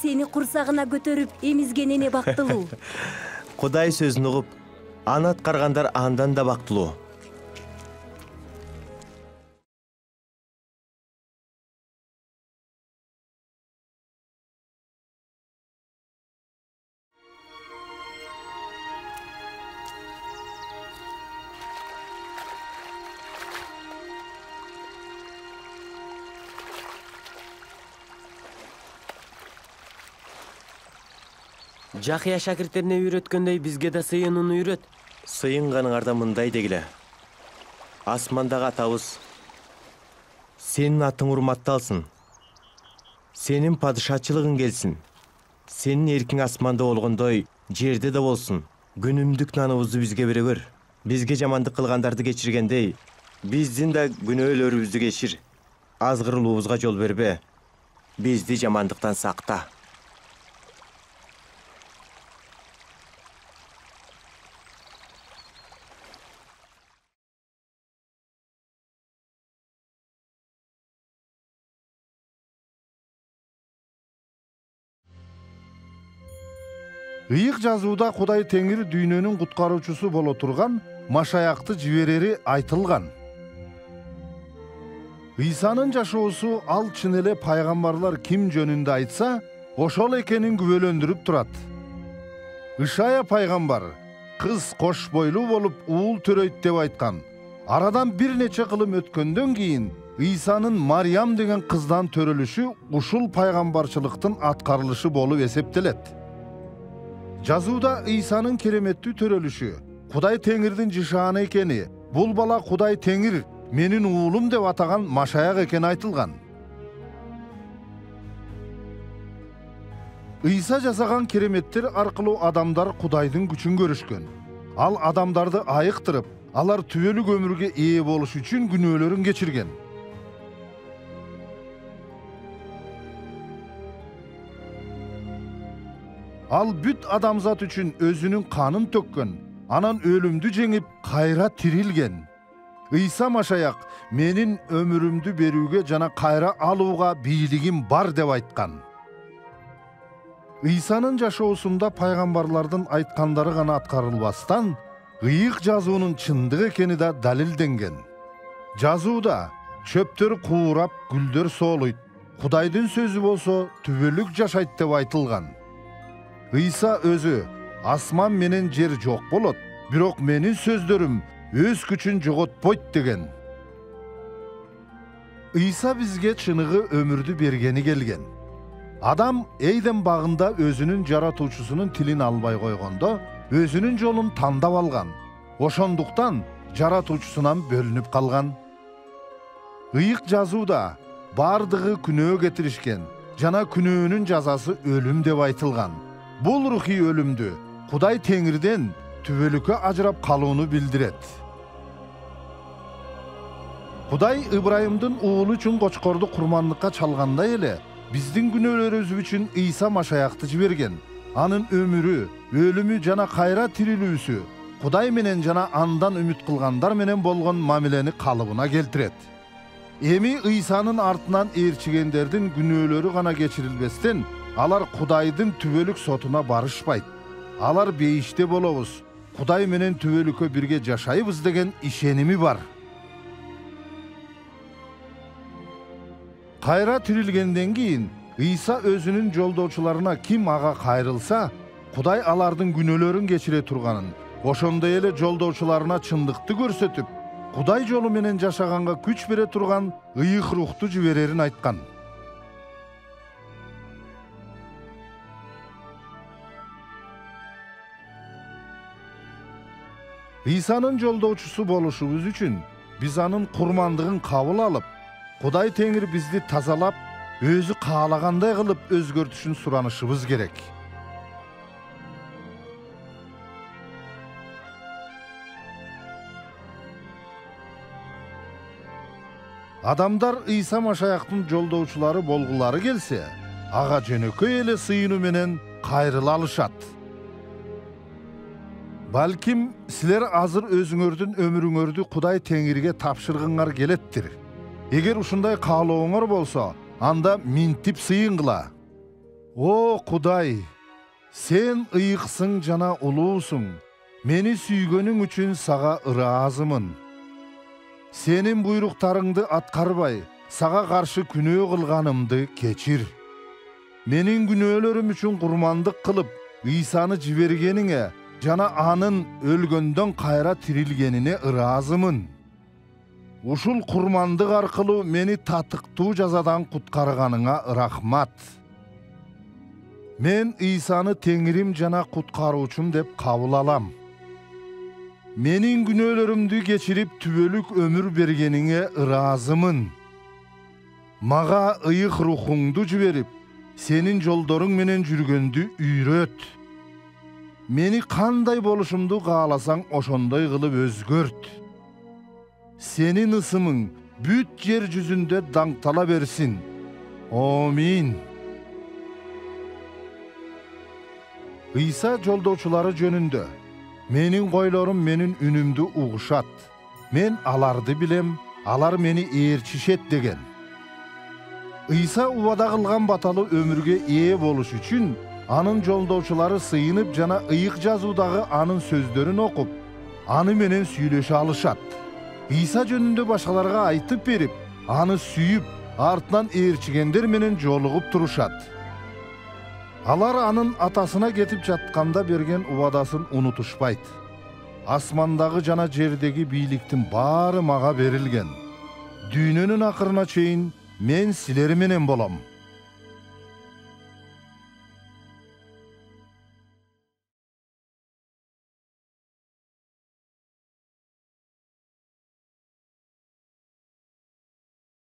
сени курсагына көтөрүп эмизген эне бактылуу. Кудай сөзүн угуп, аны аткаргандар андан да бактылуу. Жакыя шакирттерине үйрөткөндөй бизге да сыйынууну үйрөт. Сыйынганыңарда мындай дегиле. Асмандагы атабыз, сенин атың урматталсын. Сенин падышачылыгың келсин. Сенин эркиң асманда болгондой жерде да болсун. Күнүмдүк наныбызды бизге бере бер. Бизге жамандык кылгандарды кечиргендей, биздин да күнөөлөрүбүздү кечир. Азгырылуубузга жол бербе. Бизди жамандыктан сакта. Ыйык жазууда Кудай Теңир дүйнөнүн куткаруучусу боло турган Машаякты жиберери айтылган. Ыйсанын жашоосу ал чын эле пайгамбарлар ким жөнүндө айтса, ошол экенин күбөлөндүрүп турат. Ишая пайгамбар кыз кош бойлуу болуп уул төрөйт деп айткан. Арадан бир нече кылым өткөндөн кийин Ыйсанын Мариям деген кыздан төрөлүшү ушул пайгамбарчылыктын аткарылышы болуп эсептелет. Жазууда Ыйсанын кереметтүү төрөлүшү, Кудай Теңирдин жышааны экени, бул бала Кудай Теңир менин уулум деп атаган Машаяк экени айтылган. Ыйса жасаган кереметтер аркылуу адамдар Кудайдын күчүн көрүшкөн. Ал адамдарды айыктырып, алар түбөлүк өмүргө ээ болуш үчүн күнөөлөрүн кечирген. Ал бүт адамзат үчүн өзүнүн канын төккөн, анан өлүмдү жеңип, кайра тирилген. Ыйса Машаяк менин өмүрүмдү берүүгө жана кайра алууга бийлигим бар деп айткан. Ыйсанын жашоосунда пайгамбарлардын айткандары гана аткарылбастан, ыйык жазуунун чындык экени да далилденген. Жазууда чөптөр куурап, гүлдөр соолойт, Кудайдын сөзү болсо түбөлүк жашайт деп айтылган. Ыйса өзү асман менен жер жок болот, бирок менин сөздөрүм өз күчүн жоготпойт деген. Ыйса бизге чыныгы өмүрдү бергени келген. Адам Эйден багында өзүнүн жаратуучусунун тилин албай койгондо, өзүнүн жолун тандап алган. Ошондуктан жаратуучусунан бөлүнүп калган. Ыйык жазууда бардыгы күнөө кетиришкен жана күнөөнүн жазасы өлүм деп айтылган. Бул рухий өлүмдү Кудай Теңирден түбөлүккө ажырап калууну билдирет. Кудай Ыбрайымдын уулу үчүн кочкорду курмандыкка чалгандай эле, биздин күнөөлөрүбүз үчүн Ыйса Машаякты жиберген. Анын өмүрү, өлүмү жана кайра тирилүүсү Кудай менен жана андан үмүт кылгандар менен болгон мамилени калыбына келтирет. Эми Ыйсанын артынан ээрчигендердин күнөөлөрү гана кечирилбестен, алар Кудайдын түбөлүк сотуна барышпайт. Алар бейиште болобуз, Кудай менен түбөлүккө бирге жашайбыз деген ишеними бар. Кайра тирилгенден кийин Ыйса өзүнүн жолдоочуларына ким ага кайрылса, Кудай алардын күнөөлөрүн кечире турганын, ошондой эле жолдоочуларына чындыкты көрсөтүп, Кудай жолу менен жашаганга күч бере турган ыйык рухту жиберерин айткан. Ыйсанын жолдоочусу болушубуз үчүн биз анын курмандыгын кабыл алып, Кудай Теңир бизди тазалап, өзү каалагандай кылып өзгөртүшүн суранышыбыз керек. Адамдар Ыйса Машаяктын жолдоочулары болгулары келсе, ага жөнөкөй эле сыйынуу менен кайрыла алышат. Балким силер азыр өзүңөрдүн өмүрүңөрдү Кудай Теңирге тапшыргыңар келеттир. Эгер ушундай каалооңор болсо, анда минтип сыйынгыла. О Кудай, сен ыйыксың жана улуусуң. Мени сүйгөнүң үчүн сага ыраазымын. Сенин буйруктарыңды аткарбай, сага каршы күнөө кылганымды кечир. Менин күнөөлөрүм үчүн курмандык кылып, Ыйсаны жибергениңе жана анын өлгөндөн кайра тирилгенине ыраазымын. Ушул курмандык аркылуу мени татыктуу жазадан куткарганыңа рахмат. Мен Ыйсаны Теңирим жана куткаруучум деп кабыл алам. Менин күнөөлөрүмдү кечирип түбөлүк өмүр бергениңе ыраазымын. Мага ыйык рухуңду жиберип, сенин жолдоруң менен жүргөндү үйрөт. Мени кандай болушумду кааласаң ошондой кылып өзгөрт. Сенин ысымың бүт жер жүзүндө даңктала берсин. Амин. Ыйса жолдоочулары жөнүндө: менин койлорум менин үнүмдү угушат. Мен аларды билем, алар мени ээрчишет деген. Ыйса убада кылган баталуу өмүргө ээ болуш үчүн анын жолдоочулары сыйынып жана ыйык жазуудагы анын сөздөрүн окуп, аны менен сүйлөшө алышат. Ыйса жөнүндө башкаларга айтып берип, аны сүйүп, артынан ээрчигендер менен жолугуп турушат. Алар анын атасына кетип жатканда берген убадасын унутушпайт. Асмандагы жана жердеги бийликтин баары мага берилген. Дүйнөнүн акырына чейин мен силер менен болом.